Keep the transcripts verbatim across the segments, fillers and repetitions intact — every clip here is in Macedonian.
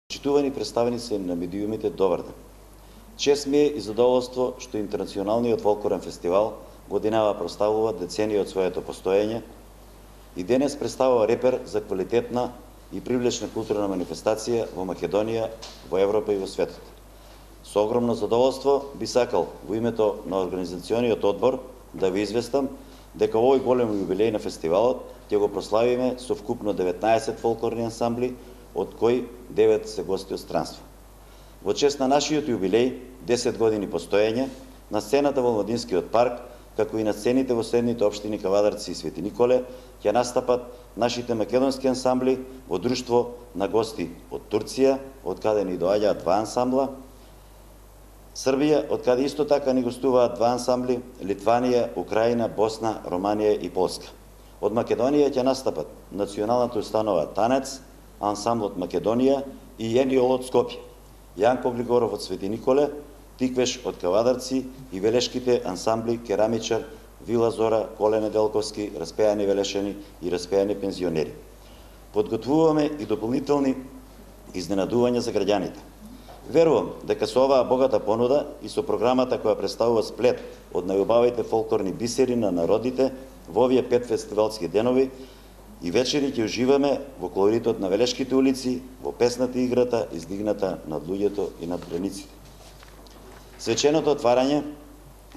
Почитувани представници на медиумите, добар ден. Чест ми е и задоволство што Интернационалниот фолклорен фестивал годинава прославува деценија од своето постоење и денес представува репер за квалитетна и привлечна културна манифестација во Македонија, во Европа и во светот. Со огромно задоволство би сакал во името на организациониот одбор да ви известам дека овој голем јубилеј на фестивалот ќе го прославиме со вкупно деветнаесет фолклорни ансамбли, од кои девет се гости од странство. Во чест на нашиот јубилеј, десет години постоење, на сцената во Младинскиот парк, како и на сцените во следните општини Кавадарци и Свети Николе, ќе настапат нашите македонски ансамбли во друштво на гости од Турција, од каде ни доаѓаат два ансамбла, Србија, од каде исто така ни гостуваат два ансамбли, Литванија, Украина, Босна, Романија и Полска. Од Македонија ќе настапат националната установа Танец, ансамблот Македонија и Јениол од Скопје, Јанко Григоров од Свети Николе, Тиквеш од Кавадарци и велешките ансамбли Керамичар, Вила Зора, Коле Неделковски, Распејани велешени и Распејани пензионери. Подготвуваме и дополнителни изненадувања за граѓаните. Верувам дека со оваа богата понуда и со програмата која представува сплет од најубавите фолклорни бисери на народите во овие пет фестивалски денови и вечери ќе уживаме во колоритот на велешките улици, во песната и играта издигната над луѓето и над границите. Свеченото отварање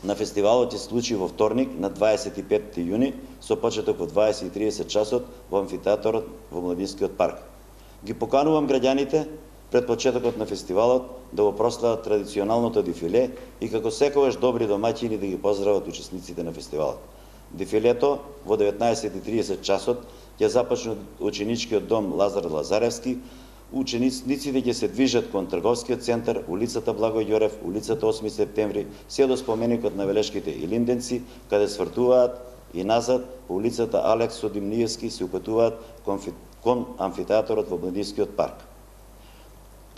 на фестивалот се случи во вторник на дваесет и петти јуни со почеток во дваесет и тридесет часот во амфитеаторот во Младинскиот парк. Ги поканувам граѓаните пред почетокот на фестивалот да го прослават традиционалното дефиле и како секогаш добри домаќини да ги поздрават учесниците на фестивалот. Дефилето во деветнаесет и тридесет часот ќе започне од ученичкиот дом Лазар Лазаревски. Учениците ќе се движат кон трговскиот центар, улицата Благој Ѓорев, улицата осми септември, се до споменикот на велешките Илинденци, каде свртуваат и назад по улицата Алексо Димниевски се упатуваат кон, кон амфитеаторот во Младинскиот парк.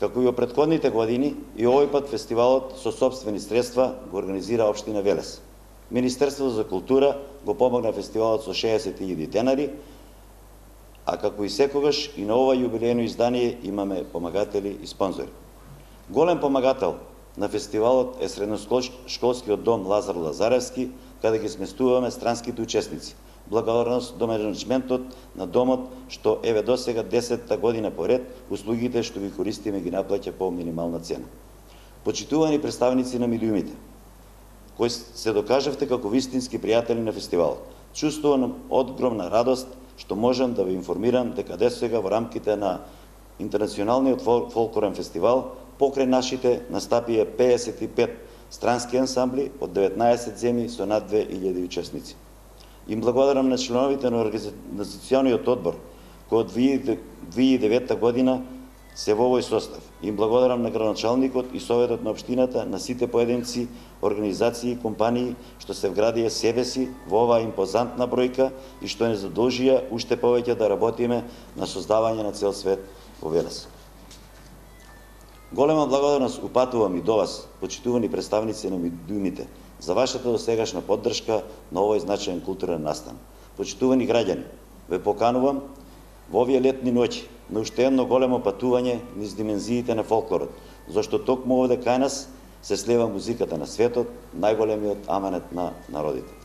Како и во претходните години, и овој пат фестивалот со сопствени средства го организира општина Велес. Министерството за култура го помогна фестивалот со шеесет илјади денари, а како и секогаш и на ова јубилејно издание имаме помагатели и спонзори. Голем помагател на фестивалот е средношколскиот дом Лазар Лазаревски, каде ги сместуваме странските учесници. Благодарност до менеджментот на домот, што еве досега десетта година поред, услугите што ги користиме ги наплаќа по минимална цена. Почитувани представници на медиумите, кои се докажавте како вистински пријатели на фестивалот. Чувствувам огромна радост што можам да ви информирам дека досега во рамките на Интернационалниот фолклорен фестивал покрај нашите настапија пеесет и пет странски ансамбли од деветнаесет земји со над две илјади учесници. Им благодарам на членовите на организациониот одбор, кој од две илјади и девета година се во овој состав. Им благодарам на градоначалникот и советот на општината, на сите поединци, организации и компании што се вградија себе си во оваа импозантна бројка и што не задолжија уште повеќе да работиме на создавање на цел свет во Велес. Голема благодарност упатувам и до вас, почитувани представници на медиумите, за вашата досегашна поддршка на овој значаен културен настан. Почитувани граѓани, ве поканувам во овие летни ноќи на уште едно големо патување низ димензиите на фолклорот, зашто токму овде кај нас се слева музиката на светот, најголемиот аманет на народите.